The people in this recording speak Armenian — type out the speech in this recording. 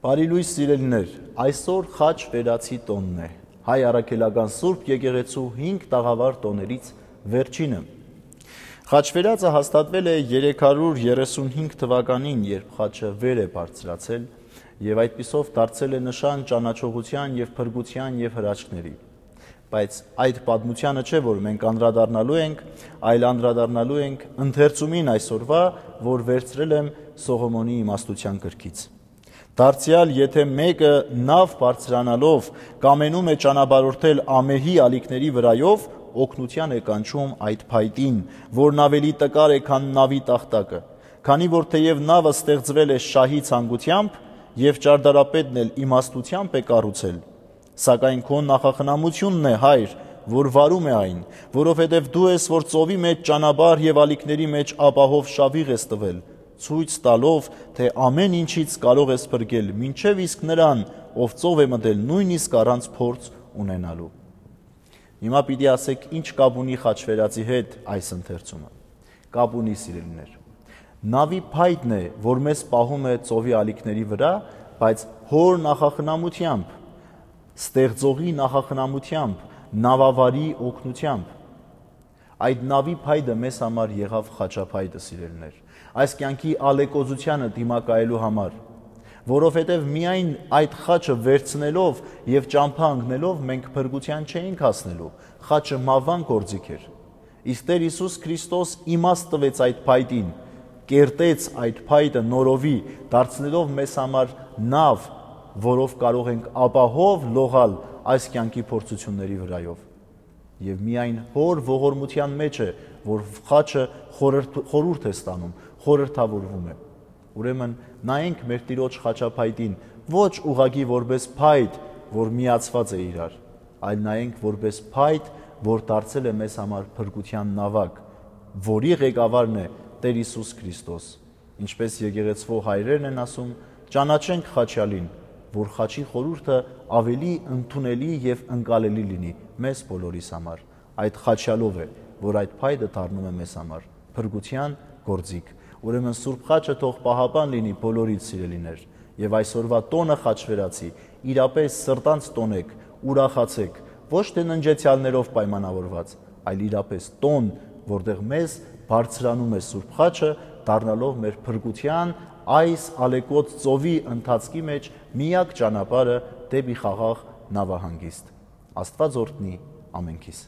Բարի լույս սիրելիներ, այսօր խաչ վերացի տոնն է, հայ առաքելական Սուրբ եկեղեցու 5 տաղավար տոներից վերջինը։ Խաչ վերածը հաստատվել է 335 թվականին, երբ խաչը վեր է բարձրացել եւ այդպիսով դարձել է նշան ճանաչողության եւ փրկության եւ հրաշքների։ Բայց այդ պատմությանը չէ, որ մենք անդրադառնալու ենք, այլ անդրադառնալու ենք ընթերցումին այսօրվա, որ վերցրել եմ Սողոմոնի իմաստության գրքից։ Դարձյալ, եթե մեկը նավ բարձրանալով կամենում է ճանապարհորդել ամեհի ալիքների վրայով, օգնության է կանչում այդ փայտին, որն ավելի տկար է, քան նավի տախտակը, քանի որ թեև նավը ստեղծվել է շահի ցանկությամբ եւ ճարտարապետն էլ իմաստությամբ է կառուցել, սակայն քո նախախնամությունն է, հայր, որ վարում է այն, որովհետև դու ես, որ ծովի մեջ ճանապարհ եւ ալիքների մեջ ապահով շավիղ ես տվել, ցույց տալով, թե ամեն ինչից կարող ես փրկել, մինչև իսկ նրան, ով ծով է մտել նույնիսկ առանց փորձ ունենալու։ Հիմա պիտի ասեք, ինչ կապ ունի խաչվերածի հետ այս ընթերցումը։ Կապ ունի, սիրելիներ։ Նավի փայտն է, որ մեզ պահում է ծովի ալիքների վրա, բայց հոր նախախնամությամբ, ստեղծողի նախախնամությամբ, նավավարի օգնությամբ։ Այդ նավի փայտը մեզ համար եղավ խաչափայտը, սիրելիներ, այս կյանքի ալեկոծությանը դիմակայելու համար, որովհետև միայն այդ խաչը վերցնելով եւ ճամփա ընկնելով մենք փրկության չէինք հասնելու, խաչը մավան գործիք էր։ Իսկ Տեր Հիսուս Քրիստոս իմաստ տվեց այդ փայտին, կերտեց այդ փայտը նորովի, դարձնելով մեզ համար նավ, որով կարող ենք ապահով լողալ այս կյանքի փորձությունների վրայով։ Եվ միայն հոր ողորմության մեջ է, որ խաչը խորհուրդ է ստանում, խորհրդավորվում է։ Ուրեմն նայենք մեր Տիրոջ խաչափայտին ոչ ուղղակի որպես փայտ, որ միացված է իրար, այլ նայենք որպես փայտ, որ դարձել է մեզ համար փրկության նավակ, որի ղեկավարն է Տեր Հիսուս Քրիստոս։ Ինչպես եկեղեցվո հայրերն են ասում, ճանաչենք խաչյալին, որ խաչի խորհուրդը ավելի ընդունելի եւ ընկալելի լինի մեզ բոլորիս համար։ Այդ խաչյալով է, որ այդ փայտը դառնում է մեզ համար փրկության գործիք։ Ուրեմն Սուրբ խաչը թող պահապան լինի բոլորից, սիրելիներ, եւ այսօրվա տոնը խաչվերացի իրապես սրտանց տոնեք, ուրախացեք, ոչ թե ննջեցյալներով պայմանավորված, այլ իրապես տոն, որտեղ մեզ բարձրանում է Սուրբ խաչը, դառնալով մեր փրկության այս ալեկոծ ծովի ընթացքի մեջ միակ ճանապարհը դեպի խաղաղ նավահանգիստ։ Աստված օրհնի ամենքիս։